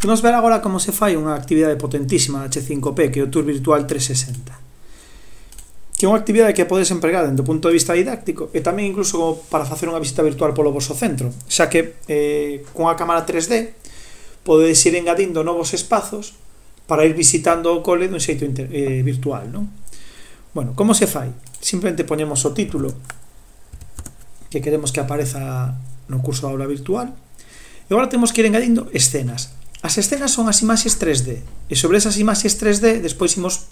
Imos ver agora como se fai unha actividade potentísima da H5P, que é o Tour Virtual 360, que é unha actividade que podes empregar dentro do punto de vista didáctico e tamén incluso como para facer unha visita virtual polo vosso centro, xa que con a cámara 3D podedes ir engadindo novos espazos para ir visitando o cole dun xeito virtual, non? Bueno, como se fai? Simplemente poñemos o título que queremos que apareza no curso de aula virtual e agora temos que ir engadindo escenas. As escenas son as imaxes 3D e sobre esas imaxes 3D despois imos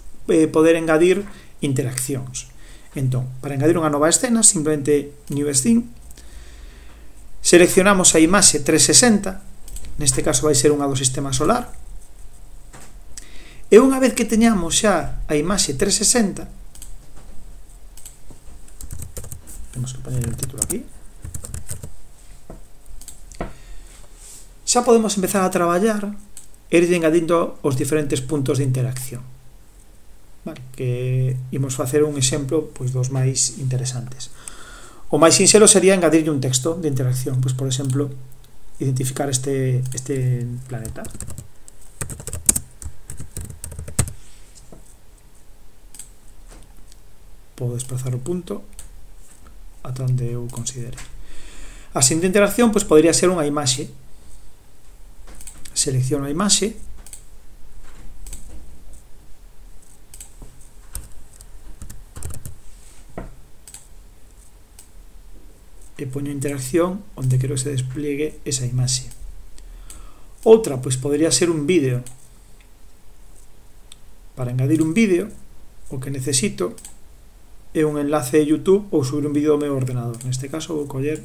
poder engadir interaccións. Entón, para engadir unha nova escena, simplemente New Scene, seleccionamos a imaxe 360, neste caso vai ser unha do sistema solar, e unha vez que teñamos xa a imaxe 360, temos que poñer o título aquí, xa podemos empezar a traballar e ir engadindo os diferentes puntos de interacción. Vale, que imos facer un exemplo pois, dos máis interesantes. O máis sinxelo sería engadirlle un texto de interacción, pois, por exemplo, identificar este planeta. Podo desplazar o punto ata onde eu considere. A seguinte interacción pois, podría ser unha imaxe. Selecciono a imaxe e poño interacción onde quero que se despliegue esa imaxe. Outra, pois podría ser un vídeo. Para engadir un vídeo, o que necesito é un enlace de YouTube ou subir un vídeo ao meu ordenador. Neste caso vou coller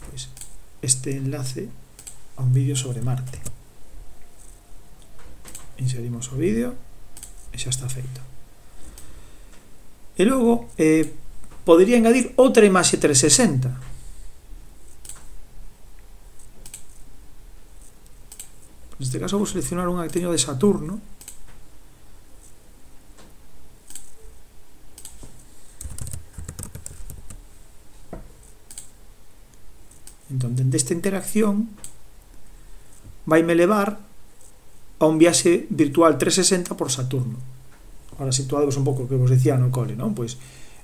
pois, este enlace a un vídeo sobre Marte. Inserimos o vídeo e xa está feito. E logo podería engadir outra imaxe 360. Neste caso vou seleccionar unha que teño de Saturno. Entón, dende esta interacción vaime levar a un viaxe virtual 360 por Saturno. Ahora situados un pouco que vos decía no cole, non? Pois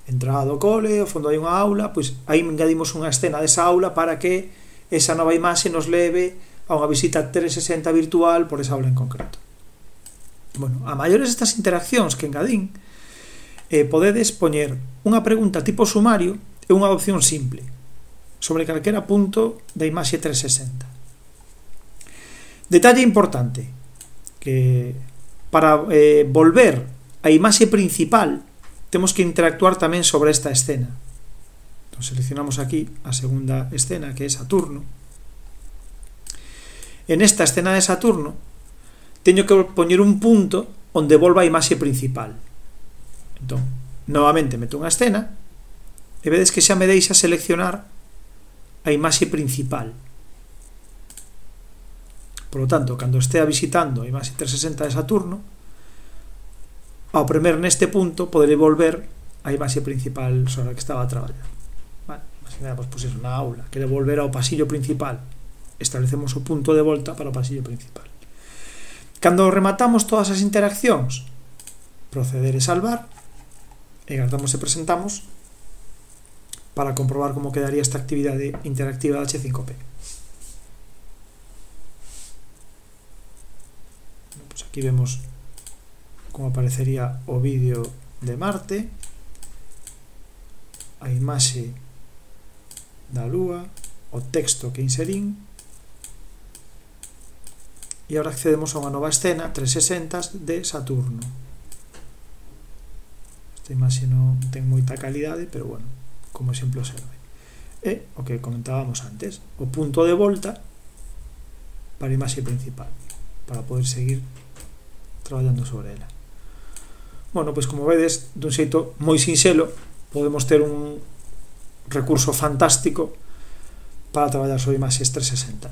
entrada do cole, ao fondo hai unha aula, pois aí engadimos unha escena desa aula para que esa nova imaxe nos leve a unha visita 360 virtual por esa aula en concreto. Bueno, a maiores estas interaccións que engadín, podedes poñer unha pregunta tipo sumario e unha opción simple sobre calquera punto da imaxe 360. Detalle importante, que para volver a imaxe principal temos que interactuar tamén sobre esta escena. Entón, seleccionamos aquí a segunda escena, que é Saturno. En esta escena de Saturno teño que poñer un punto onde volva a imaxe principal. Entón, novamente meto unha escena e vedes que xa me deixa seleccionar a imaxe principal. Por lo tanto, cando estea visitando a imaxe 360 de Saturno, ao premer neste punto poderei volver a imaxe principal sobre a que estaba a traballar. Vale, imaginemos, pois é unha aula, quere volver ao pasillo principal, establecemos o punto de volta para o pasillo principal. Cando rematamos todas as interaccións, proceder e salvar, e guardamos e presentamos para comprobar como quedaría esta actividade interactiva da H5P. Pues aquí vemos como aparecería o vídeo de Marte, a imaxe da Lúa, o texto que inserín, e agora accedemos a unha nova escena 360 de Saturno. Esta imaxe non ten moita calidade, pero bueno, como exemplo serve. E o que comentábamos antes, o punto de volta para a imaxe principal, para poder seguir traballando sobre ela. Bueno, pois como vedes, dun xeito moi sinxelo, podemos ter un recurso fantástico para traballar sobre imaxes 360.